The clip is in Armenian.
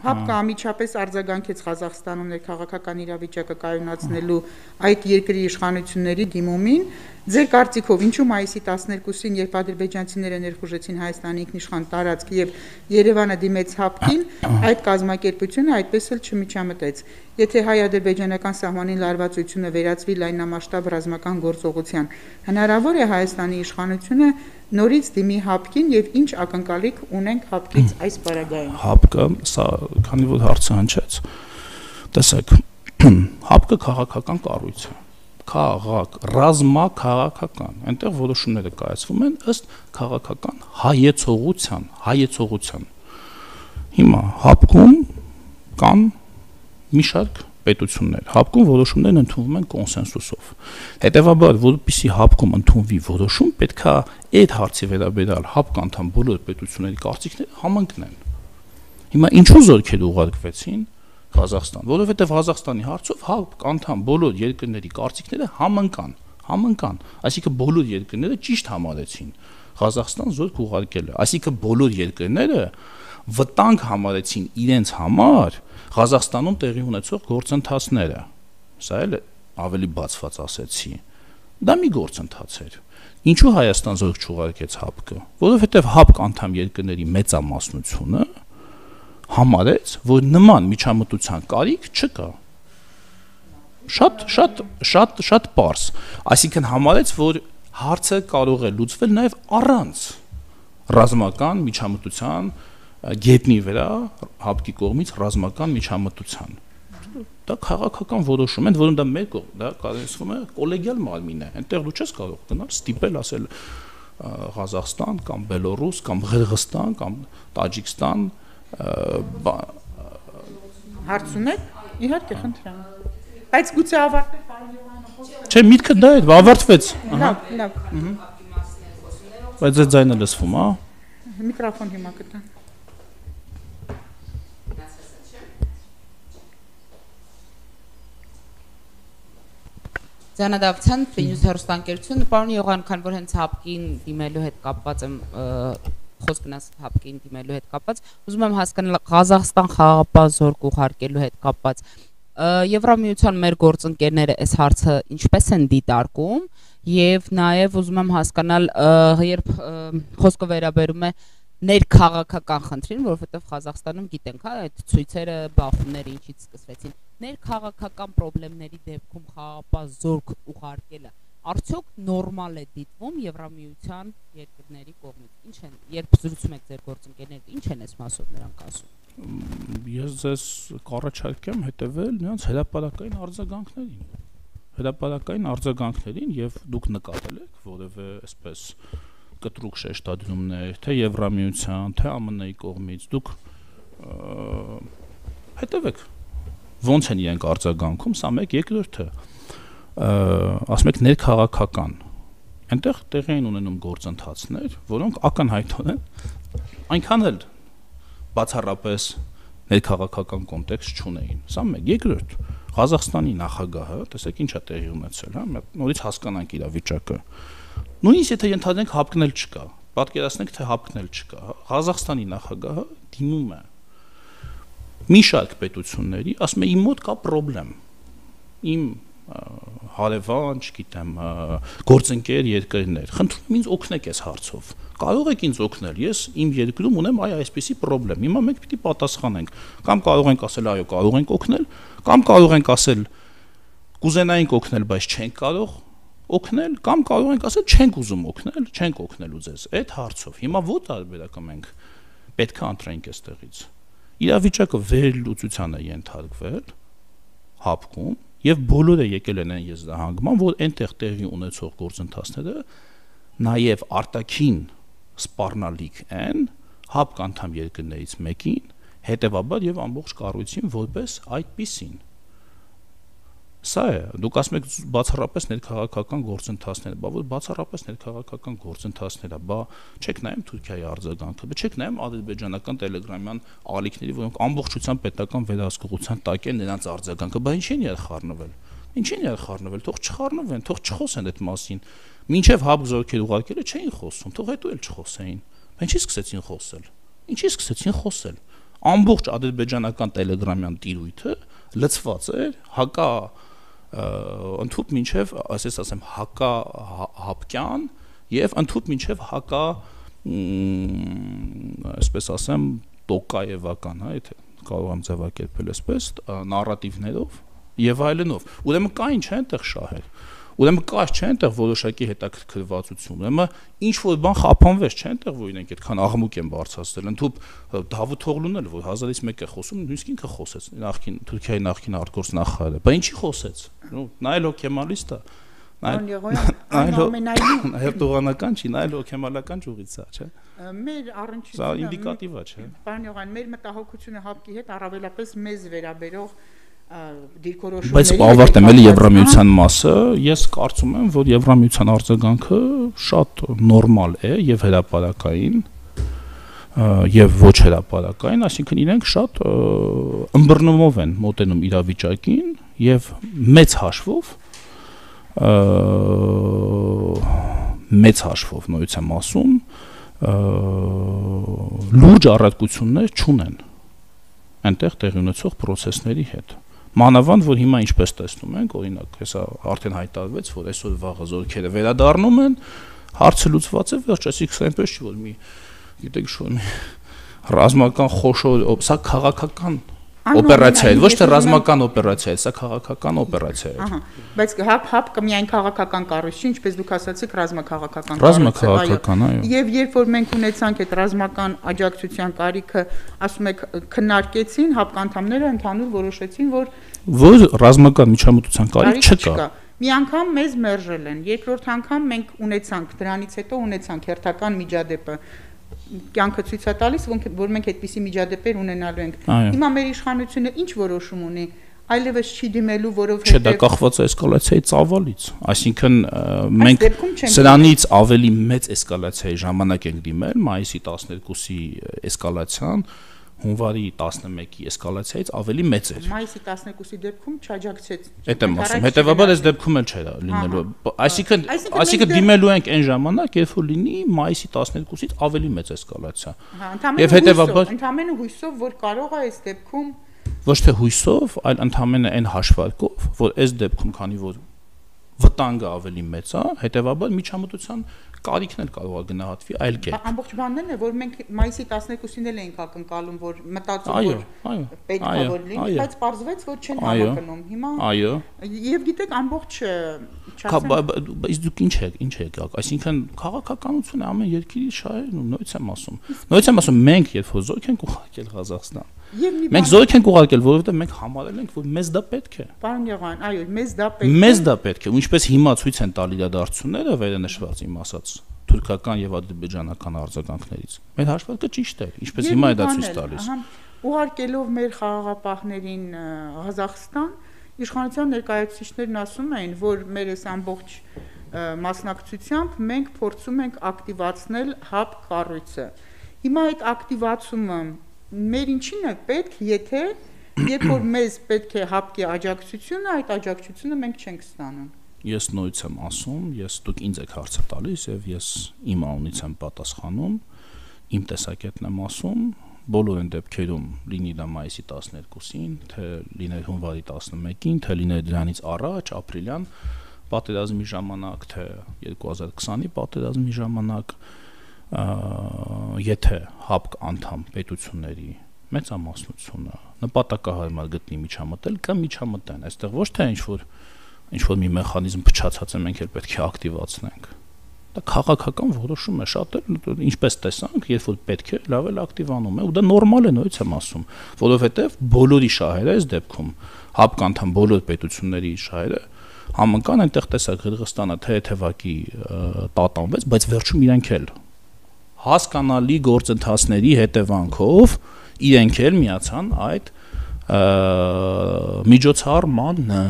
ՀԱՊԿ-ը անմիջապես արձագանքեց Ղազախստանում ներքաղաքական իրավիճակը կայունացնելու այդ երկրի իշխանությունների դիմումին։ Ձեր կարծիքով ինչու մայիսի 12-ին, երբ ադրբեջանցիները ներխուժեցին Հայաստանի ինքնիշխան տարածք եւ Երևանը դիմեց ՀԱՊԿ-ին, այդ կազմակերպությունը այդպես էլ չմիջամտեց։ Եթե հայ-ադրբեջանական սահմանին լարվածությունը վերածվի լայնամասշտաբ ռազմական գործողության, հնարավոր է Հայաստանի իշխանությունը նորից դիմի ՀԱՊԿ-ին եւ ինչ ակնկալիք ունենք ՀԱՊԿ-ից այս պարագայում։ ՀԱՊԿ-ը, սա քանի որ հարցը հնչեց, տեսեք, ՀԱՊԿ-ը քաղաքական կառույց է, ռազմաքաղաքական, այնտեղ որոշումները կայացվում են ըստ քաղաքական հայեցողության։ Հիմա ՀԱՊԿ-ում կան մի շարք պետություններ, ՀԱՊԿ-ում որոշումներն ընդունվում են կոնսենսուսով։ Հետևաբար, որպեսզի ՀԱՊԿ-ում ընդունվի որոշում, պետք է այդ հարցի վերաբերյալ ՀԱՊԿ անդամ բոլոր պետությունների կարծիքները համընկնեն։ Հիմա ինչու զորքեր ուղարկվեցին Ղազախստան, որովհետև Ղազախստանի հարցով ՀԱՊԿ անդամ բոլոր երկրների կարծիքները համընկան, այսինքն բոլոր երկրները ճիշտ համարեցին Ղազախստան զորք ուղարկելը, այսինքն բոլոր երկրները վտանգ համարեցին իրենց համար Ղազախստանում տեղի ունեցող գործընթացները։ Սա էլ ավելի բացված ասեցի։ Դա մի գործընթաց էր։ Ինչու Հայաստան զորք չուղարկեց ՀԱՊԿ-ը, որովհետև ՀԱՊԿ անդամ երկրների մեծամասնությունը համարեց, որ նման միջամտության կարիք չկա։ Շատ պարզ, այսինքն համարեց, որ հարցը կարող է լուծվել նաև առանց ռազմական միջամտության գետնի վրա ՀԱՊԿ-ի կողմից ռազմական միջամտության։ Դա քաղաքական որոշում են, որոնց դա մեր կողմ, դա կարծում է կոլեգիալ մարմին է, այնտեղ դու չես կարող գնալ ստիպել ասել Ղազախստան կամ Բելոռուս կամ Ղրղստան կամ Տաջիկստան հարց ունեք, իհարկե խնդրեմ, բայց գուցե ավարտեք պարոն Յովանովը։ Չէ, միտքը դա է, ավարտվեց։ Լավ։ Բայց այդ ձայնը լսվում, հա։ Միկրոֆոն հիմա կտա։ Ձանադավթյան Ֆինյուս հեռուստաընկերություն, պարոն Յողան, քան որ հենց ՀԱՊԿ-ին դիմելու հետ կապված եմ, խոսք գնաց ՀԱՊԿ-ին դիմելու հետ կապված, ուզում եմ հասկանալ Ղազախստան խաղաղապահ զորք ուղարկելու հետ կապված, Եվրամիության մեր գործընկերները այս հարցը ինչպես են դիտարկում եւ նաեւ ուզում եմ հասկանալ, երբ խոսքը վերաբերում է ներքաղաքական խնդրին, որովհետեւ Ղազախստանում գիտենք, հա, այդ ցույցերը, բախումները ինչից սկսվեցին, ներքաղաքական խնդիրների դեպքում խաղաղապահ զորք ուղարկելը արդյոք նորմալ է դիտվում Եվրամիության երկրների կողմից։ Ինչ են, երբ զրուցում եք ձեր գործընկերների, ինչ են այս մասով նրանք ասում։ Ես ձեզ կառաջարկեմ հետևել նրանց հրապարակային արձագանքներին եւ դուք նկատել եք որևէ այսպես կտրուկ շեշտադրումներ, թե Եվրամիության, թե ԱՄՆ-ի կողմից, դուք հետևեք ոնց են իրենք արձագանքում, սա մեկ, երկրորդը ասում եք ներքաղաքական, այնտեղ տեղի են ունենում գործընթացներ, որոնք ակնհայտորեն այնքան էլ բացառապես ներքաղաքական կոնտեքստ չունեին, սա մեկ, երկրորդ, Ղազախստանի նախագահը, տեսեք ինչ է տեղի ունեցել, հա, նորից հասկանանք իրավիճակը, նույնիսկ եթե ենթադրենք ՀԱՊԿ-ն էլ չկա, պատկերացնենք, թե ՀԱՊԿ-ն էլ չկա, Ղազախստանի նախագահը դիմում է մի շարք պետությունների, ասում է իմ մոտ կա պրոբլեմ, իմ հարևան, չգիտեմ, գործընկեր երկրներ, խնդրում ինձ օգնեք այս հարցով, կարող եք ինձ օգնել, ես իմ երկրում ունեմ այսպիսի պրոբլեմ, հիմա մենք պիտի պատասխանենք, կամ կարող ենք ասել այո, կարող ենք օգնել, կամ կարող ենք ասել կուզենայինք օգնել, բայց չենք կարող օգնել, կամ կարող ենք ասել չենք ուզում օգնել, չենք օգնելու ձեզ այդ հարցով, հիմա ո՞ր տարբերակը մենք պետք է ընտրենք այստեղից։ Իրավիճակը վերլուծության է ենթարկվել ՀԱՊԿ-ում եւ բոլորը եկել են այն եզրահանգման, որ այնտեղ տեղի ունեցող գործընթացները նաեւ արտաքին սպառնալիք են ՀԱՊԿ անդամ երկրներից մեկին, հետեւաբար եւ ամբողջ կառույցին որպես այդպիսին։ Սա է, դուք ասում եք բացառապես ներքաղաքական գործընթացներ, բա որ բացառապես ներքաղաքական գործընթացները, բա չեք նայում Թուրքիայի արձագանքը, բա չեք նայում ադրբեջանական տելեգրամյան ալիքների, որոնք ամբողջությամբ պետական վերահսկողության տակ են նրանց արձագանքը, բա ինչի՞ն է խառնվել։ Ինչի՞ն է խառնվել, թող չխառնվեն, թող չխոսեն այդ մասին։ Մինչև ՀԱՊԿ զորքեր ուղարկելը չէին խոսում, թող հետո էլ չխոսեին։ Բա ինչի՞ սկսեցին խոսել։ Ինչի՞ սկսեցին խոսել։ ամբողջ ադրբեջանական տելեգրամյան տիրույթը լցված էր հակա ընդհուպ մինչև ասես ասեմ հակա հապկյան եւ ընդհուպ մինչև հակա այսպես ասեմ տոկաևական, հա, եթե կարող եմ ձևակերպել այսպես, նարատիվներով եւ այլնով։ Ուրեմն կային չէ այնտեղ շահեր։ Ուրեմն կա չէ այնտեղ որոշակի հետաքրքրվածություն։ Ուրեմն ինչ որ բան խափանվեց չէ այնտեղ, որ իրենք այդքան աղմուկ են բարձրացրել։ Ընդհուպ Դավութ Օղլուն էլ որ 1000-ից 1 է խոսում, նույնիսկ ինքը խոսեց, նախքին Թուրքիայի նախքին արտգործնախարարը։ Բա ինչի խոսեց։ Նա էլ օքեմալիստ է։ Հետողանական չի, նա էլ օքեմալական ճյուղից է, չէ։ Մեր առնչությունը սա ինդիկատիվ է, չէ։ Պարոն Յողան, մեր մտահոգությունը հապկի հետ առավելապես մեզ վերաբերող դիրքորոշումների։ Բայց ավարտեմ էլի Եվրամիության մասը, ես կարծում եմ, որ Եվրամիության արձագանքը շատ նորմալ է եւ հրապարակային եւ ոչ հրապարակային, այսինքն իրենք շատ ըմբռնումով են մոտենում իրավիճակին եւ մեծ հաշվով նույնից եմ ասում լուրջ առարկություններ չունեն այնտեղ տեղի ունեցող process-ների հետ։ Մանավանդ որ հիմա ինչպես տեսնում ենք, օրինակ, հեսա արդեն հայտարարվեց, որ այսօր վաղը զորքերը վերադառնում են, հարցը լուծված է, վերջ, այսինքն այնպես չի, որ մի, գիտեք, շո մի ռազմական խոշոր, սա քաղաքական օպերացիա է, ոչ թե ռազմական օպերացիա է, սա քաղաքական օպերացիա է։ Ահա, բայց հապկը միայն քաղաքական կառույց չի, ինչպես դուք ասացիք, ռազմաքաղաքական ռազմաքաղաքական, այո։ Եվ երբ որ մենք ունեցանք այդ ռազմական աջակցության կարիքը, ասում եք, քննարկեցին, հապկ անդամները ընդհանուր որոշեցին, որ ռազմական միջամտության կարիք չկա։ Մի անգամ մեզ մերժել են, երկրորդ անգամ մենք ունեցանք, դրանից հետո ունեցանք հերթական միջադեպը կյանքը ցույց է տալիս, որ մենք այդպիսի միջադեպեր ունենալու ենք։ Հիմա մեր իշխանությունը ինչ որոշում ունի, այլևս չի դիմելու, որովհետև չէ, դա կախված է էսկալացիայի ծավալից, այսինքն մենք սրանից ավելի մեծ էսկալացիայի ժամանակ ենք դիմել, մայիսի 12-ի էսկալացիան հունվարի 11-ի էսկալացիայից ավելի մեծ էր։ Մայիսի 12-ի դեպքում չաջակցեց։ Այդ եմ ասում, հետեւաբար այս դեպքում էլ չէր լինելու։ Այսինքն դիմելու ենք այն ժամանակ, երբ որ լինի մայիսի 12-ից ավելի մեծ էսկալացիա։ Եվ հետեւաբար ընդհանրապես հույսով, որ կարող է այս դեպքում ոչ թե հույսով, այլ ընդհանրապես այն հաշվարկով, որ այս դեպքում քանի որ վտանգը ավելի մեծ է, հետեւաբար միջամտության կարիքն էլ կարող է գնահատվի այլ կերպ։ Ամբողջ բանն է, որ մենք մայիսի 12-ին էլ էինք ակնկալում, որ մտածում որ պետք է որ լինի, բայց պարզվեց, որ չեն համակնում։ Հիմա այո։ Եվ գիտեք, ամբողջ Բայց դուք ինչ եք, այսինքն քաղաքականությունը ամեն երկրի շահերն ու նույնից եմ ասում, մենք երբ որ զորք ենք ուղարկել Ղազախստան, մենք զորք ենք ուղարկել, որովհետև մենք համարել ենք, որ մեզ դա պետք է։ Պարոն Յողան, այո, մեզ դա պետք է։ Մեզ դա պետք է, ու ինչպես հիմա ցույց են տալ իրադարձությունները վերանշված իմ ասած թուրքական եւ ադրբեջանական արձագանքներից։ Մեր հաշվարկը ճիշտ է, ինչպես հիմա է դա ցույց տալիս։ Ուղարկելով մեր խաղաղապահներին Ղազախստան, իշխանության ներկայացուցիչներն ասում էին, որ մեր այս ամբողջ մասնակցությամբ մենք փորձում ենք ակտիվացնել հապ կառույցը։ Հիմա այդ ակտիվացումը մեր ինչին է պետք, եթե երբ որ մեզ պետք է հապկի աջակցությունը, այդ աջակցությունը մենք չենք ստանում։ Ես նույնից եմ ասում, դուք ինձ եք հարցը տալիս եւ ես իմ անունից եմ պատասխանում, իմ տեսակետն եմ ասում, բոլոր այն դեպքերում լինի դա մայիսի 12-ին, թե լիներ հունվարի 11-ին, թե լիներ դրանից առաջ, ապրիլյան պատերազմի ժամանակ, թե 2020-ի պատերազմի ժամանակ, եթե հապկ անդամ պետությունների մեծամասնությունը նպատակահարմար գտնի միջամտել կամ միջամտեն, այստեղ ոչ թե ինչ որ մի մեխանիզմ փչացած է, մենք էլ պետք է ակտիվացնենք։ Դա քաղաքական որոշում է, շատ էլ ինչպես տեսանք, երբ որ պետք է, լավ էլ ակտիվանում է, ու դա նորմալ է, նույնից եմ ասում, որովհետև բոլորի շահերը այս դեպքում հապկ անդամ բոլոր պետությունների շահերը համընկան, այնտեղ տեսակ Ղրղստանը թեթևակի տատանվեց, բայց վերջում իրենք էլ հասկանալի գործընթացների հետևանքով իրենք էլ միացան այդ միջոցառմանը